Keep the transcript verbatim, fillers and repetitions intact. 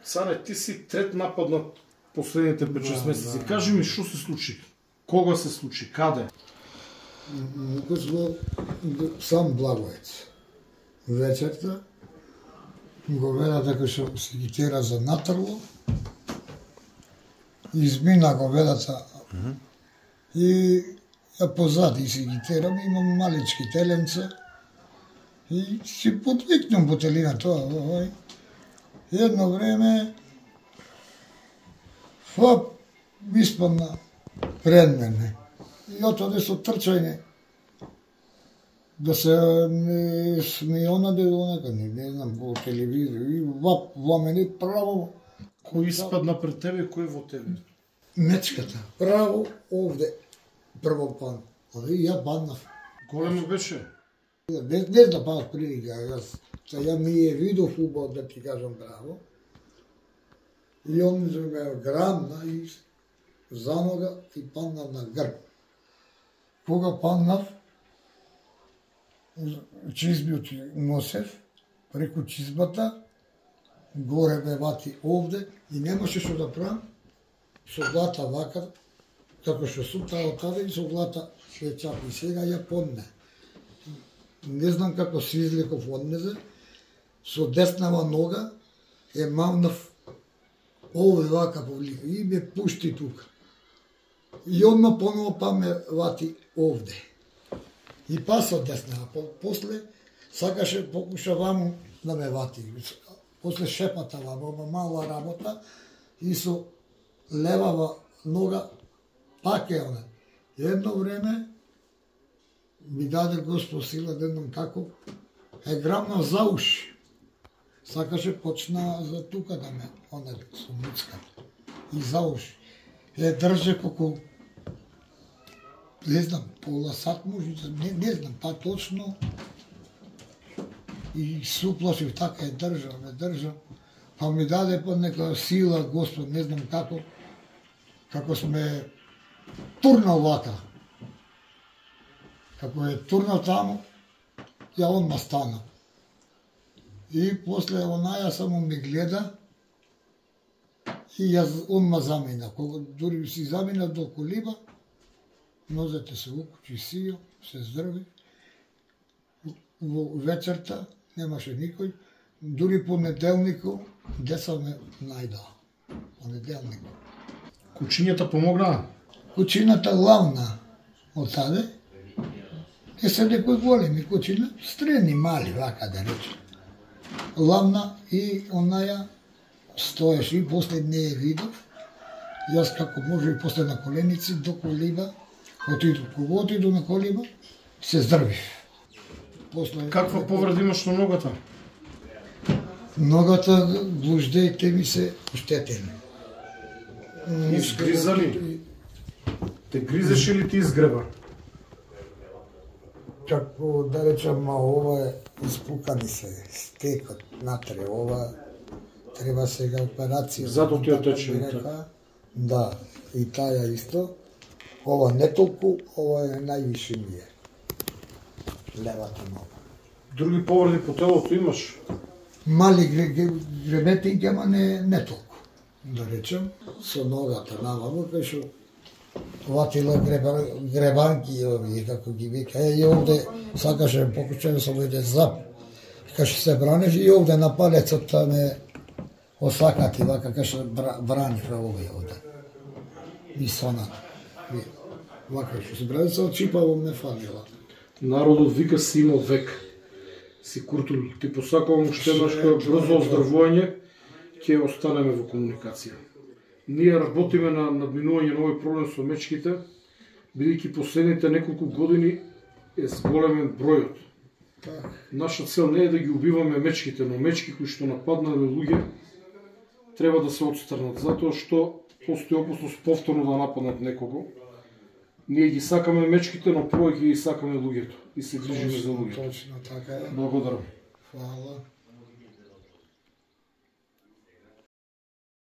Цане, ти си трет напад на последните пет-шест месеци. Кажи ми, што се случи? Кога се случи? Каде? Мукус во сам Благоевец. Вечерта го вела дека што се ги тера за натрло. Измина го велата и ја позади си ги терам, имам малички теленца и си подвикнам бутелина тоа. Овој. Едно време фап испадна пред мене. И отоде со трчање да се не смеонаде онака, не, не знам, по телевизија, и вап, во мене право. Кој испадна пред тебе и кој во тебе? Мечката, право овде, прво пан. И ја паднав. Големо беше? Не, не знам, па прилика, јас, ја ми е видов убаво, да ти кажам право. И он ме грабна и за нога и паднав на грб. Кога паднав, чизбиот носев, преку чизбата, горе ме вати овде и немаше што да правам, со глата вака, како што сум таа отаде и со глата се чапи. Сега ја подне. Не знам како се излеков од незе, со деснава нога е мавнав овде вака повлика и ме пушти тука. И одма поново па ме вати овде. И па со деснава. После сакаше, покуша ваму да ме вати. После шепата ваму, мала работа и со левава нога пак е она. Едно време ми даде Господ сила да едном како е грамна за уши. Сакаше почна за тука да ме, она со муцка. И за уши. Е држе колку, не знам, пола сат може, не, не знам, па точно. И се уплашив, така е држа, ме држа. Па ми даде па нека сила Господ, не знам како, како сме турнал вака. Како е турнал таму, ја одма стана. И после онаја само ми гледа и јас одма замина. Кога дури си замина до колиба, нозете се укучи сијо, се здрви. Во вечерта немаше никој. Дури понеделнико деца ме најдоа. Понеделнико. Кучињата помогнаа? Кучината главна од таде. Не се некои големи кучина, средни, мали, вака да речем. Главна и онаја стоеше и после не е видов. Јас како може и после на коленици до колиба, отиду, кога отиду на колиба, се здрвив. После... Каква повреда имаш на ногата? Ногата, глуждеите ми се оштетени. Изгризали? Те гризеше ли ти изгреба? Како да речам, ма ова е испукани се, стекот натре, ова треба сега операција. Зато ти отече. Да, и таја исто. Ова не толку, ова е највише ми е. Левата нога. Други повреди по телото имаш? Мали гребетинки, ама не, не толку. Да речем, со ногата наваму, кај шо ватила гребанки, овие, како ги вика. Е, и овде сакаше покучен со овде зап. Кај се бранеш и овде на палецот ме осакати, вака кај се браниш овие овде. И сона. Вака што се браниш, очипаво ме фанила. Народот вика си имал век. Си Куртул, ти посакувам уште нашето брзо оздравување, ќе останеме во комуникација. Ние работиме на надминување на овој проблем со мечките, бидејќи последните неколку години е зголемен бројот. Наша цел не е да ги убиваме мечките, но мечки кои што нападнале луѓе треба да се отстрнат, затоа што постои опасност повторно да нападнат некого. Ние ги сакаме мечките, но повеќе ги сакаме луѓето и се грижиме за луѓето. Точно така е. Благодарам. Фала.